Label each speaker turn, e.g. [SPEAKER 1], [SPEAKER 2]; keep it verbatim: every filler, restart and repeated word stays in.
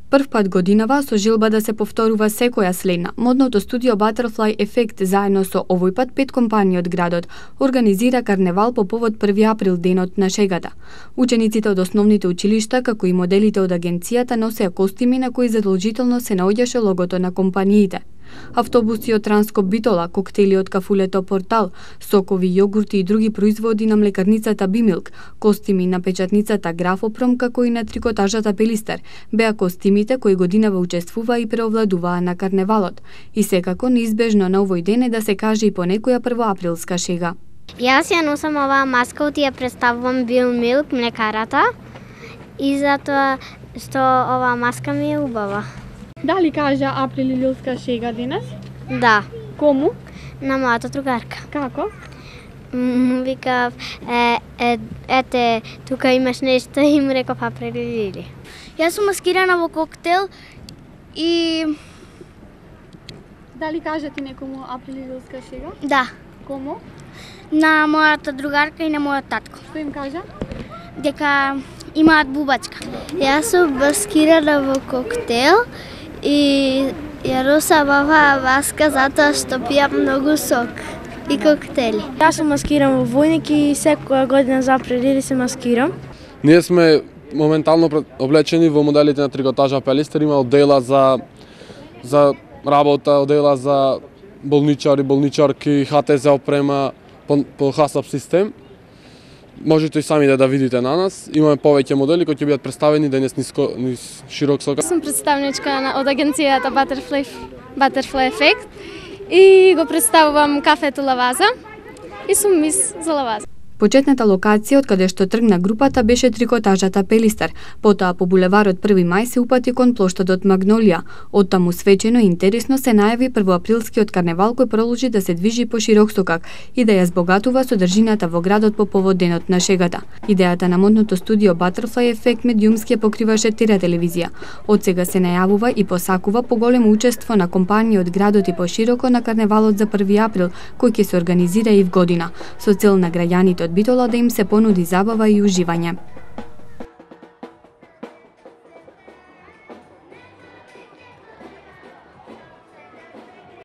[SPEAKER 1] Прв пат годинава со желба да се повторува секоја следна, модното студио Butterfly Effect заедно со овој пат пет компании од градот организира карневал по повод први април, денот на шегата. Учениците од основните училишта, како и моделите од агенцијата носеа костими на кои задолжително се наоѓаше логото на компаниите. Автобуси од Транскоп Битола, коктели од кафулето Портал, сокови, јогурти и други производи на млекарницата Бимилк, костими на печатницата Графопром, како и на трикотажата Пелистер, беа костимите кои годинава учествуваа и преовладуваа на карневалот. И секако неизбежно на овој ден е да се каже и по некоја првоаприлска шега.
[SPEAKER 2] Јас ја носам оваа маска од ја представувам Бимилк, млекарата, и затоа што оваа маска ми е убава.
[SPEAKER 3] Дали кажа април илилска шега денес?
[SPEAKER 2] Да.
[SPEAKER 3] Кому?
[SPEAKER 2] На мојата другарка.
[SPEAKER 3] Како?
[SPEAKER 2] Му викав, е, е, ете, тука имаш нешто и му реков април илили.
[SPEAKER 4] Јас сум маскирана во коктел и...
[SPEAKER 3] Дали кажа ти некому април илилска шега?
[SPEAKER 4] Да.
[SPEAKER 3] Кому?
[SPEAKER 4] На мојата другарка и на мојот татко.
[SPEAKER 3] Што им кажа?
[SPEAKER 4] Дека имаат бубачка.
[SPEAKER 2] Јас сум маскирана во коктел и ја носам оваа маска затоа што пијам многу сок и коктели.
[SPEAKER 5] Јас сум маскиран во војник и секоја година за април илили се маскирам.
[SPEAKER 6] Ние сме моментално облечени во моделите на трикотажа Пелистер, има оддела за за работа, оддела за болничари, болничарки, Х Т З опрема по, по хасап систем. Можете и сами да, да видите на нас. Имаме повеќе модели кои ќе бидат представени денес низ, низ широк сокак.
[SPEAKER 7] Сум представничка на, од агенцијата Butterfly, Butterfly Effect и го представувам кафето Лаваза и сум мис за Лаваза.
[SPEAKER 1] Почетната локација од каде што тргна групата беше трикотажата Пелистер, потоа по булеварот први мај се упати кон плоштадот Магнолија. Оттаму свечено и интересно се најави првоаприлскиот карневал кој продолжи да се движи по широк сокак и да ја збогатува содржината во градот по повод денот на шегата. Идејата на модното студио Butterfly Effect медиумски ја покриваше Тира телевизија. Од сега се најавува и посакува поголемо учество на компании од градот и пошироко на карневалот за први април, кој ќе се организира и в година, со цел на граѓаните од Битола да им се понуди забава и уживање.